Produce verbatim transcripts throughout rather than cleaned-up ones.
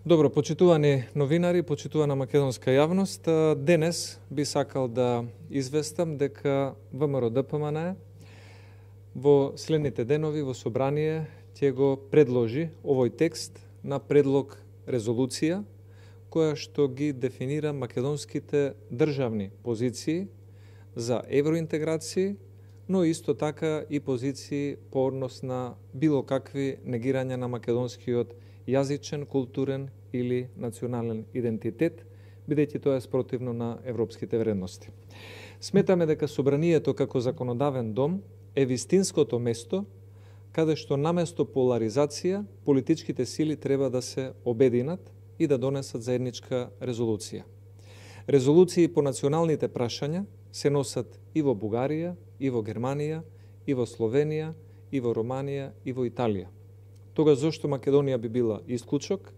Добро, почитувани новинари, почитувана македонска јавност, денес би сакал да известам дека ВМРО-ДПМН во следните денови во собрание ќе го предложи овој текст на предлог резолуција која што ги дефинира македонските државни позиции за евроинтеграција, но исто така и позиции по однос на било какви негирања на македонскиот јазичен, културен или национален идентитет, бидејќи тоа е спротивно на европските вредности. Сметаме дека собранието како законодавен дом е вистинското место каде што наместо поларизација политичките сили треба да се обединат и да донесат заедничка резолуција. Резолуции по националните прашања се носат и во Бугарија, и во Германија, и во Словенија, и во Романија, и во Италија. Тога зошто Македонија би била исклучок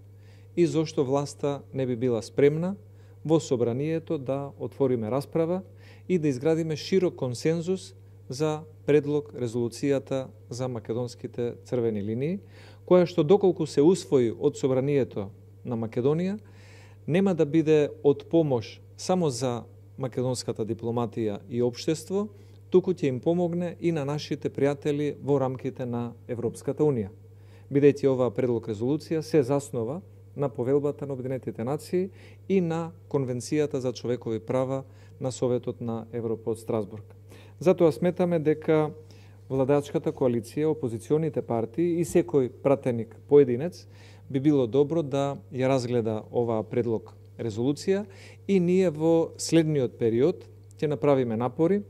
и зошто власта не би била спремна во собранието да отвориме расправа и да изградиме широк консензус за предлог резолуцијата за македонските црвени линии, која што доколку се усвои од собранието на Македонија, нема да биде од помош само за македонската дипломатија и општество, туку ќе им помогне и на нашите пријатели во рамките на Европската Унија, бидејќи оваа предлог резолуција се заснова на Повелбата на Обединетите нации и на Конвенцијата за човекови права на Советот на Европа од Страсбург. Затоа сметаме дека владачката коалиција, опозиционите партии и секој пратеник поединец би било добро да ја разгледа оваа предлог резолуција и ние во следниот период ќе направиме напори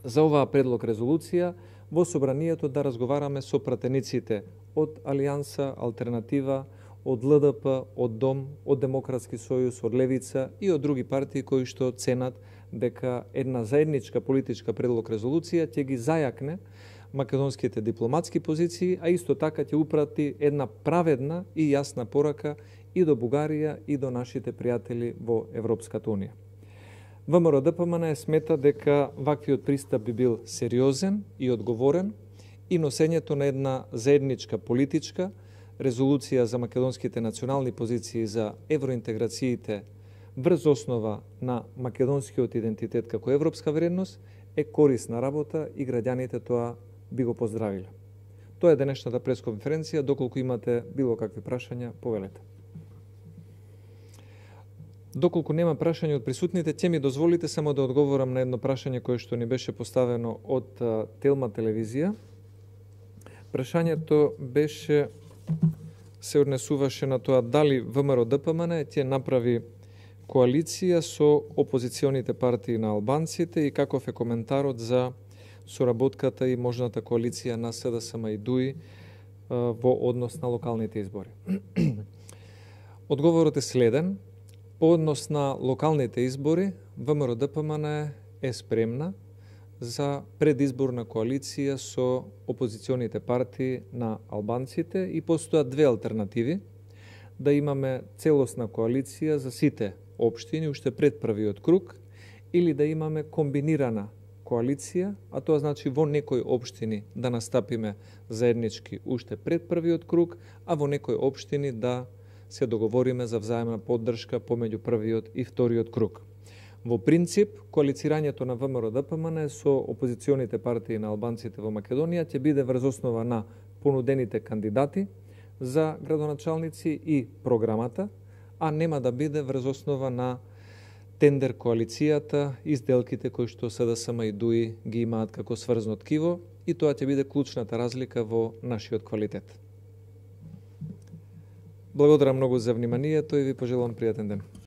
за оваа предлог резолуција во собранието да разговараме со пратениците од Алијанса, Алтернатива, од ЛДП, од Дом, од Демократски сојуз, од Левица и од други партии кои што ценат дека една заедничка политичка предлог резолуција ќе ги зајакне македонските дипломатски позиции, а исто така ќе упрати една праведна и јасна порака и до Бугарија и до нашите пријатели во Европската Унија. ВМРО-ДПМН смета дека ваквиот пристап би бил сериозен и одговорен и носењето на една заедничка политичка резолуција за македонските национални позиции за евроинтеграциите врз основа на македонскиот идентитет како европска вредност е корисна работа и граѓаните тоа би го поздравиле. Тоа е денешната пресконференција, доколку имате било какви прашања, повелете. Доколку нема прашање од присутните, ќе ми дозволите само да одговорам на едно прашање кое што ни беше поставено од Телма телевизија. Прашањето беше се однесуваше на тоа дали ВМРО-ДПМН ќе направи коалиција со опозиционите партии на албанците и каков е коментарот за соработката и можната коалиција на СДСМ и ДУИ во однос на локалните избори. Одговорот е следен. По однос на локалните избори, ВМРО-ДПМН е спремна за предизборна коалиција со опозиционите партии на албанците и постојат две алтернативи: да имаме целосна коалиција за сите општини уште пред првиот круг или да имаме комбинирана коалиција, а тоа значи во некои општини да настапиме заеднички уште пред првиот круг, а во некои општини да се договориме за взаемна поддршка помеѓу првиот и вториот круг. Во принцип, коалицирањето на ВМРО-ДПМН со опозиционите партии на албанците во Македонија ќе биде врз основа на понудените кандидати за градоначалници и програмата, а нема да биде врз основа на тендер коалицијата и сделките кои што СДСМ и ДУИ ги имаат како сврзно ткиво, и тоа ќе биде клучната разлика во нашиот квалитет. Благодарам многу за вниманието и ви пожелувам пријатен ден.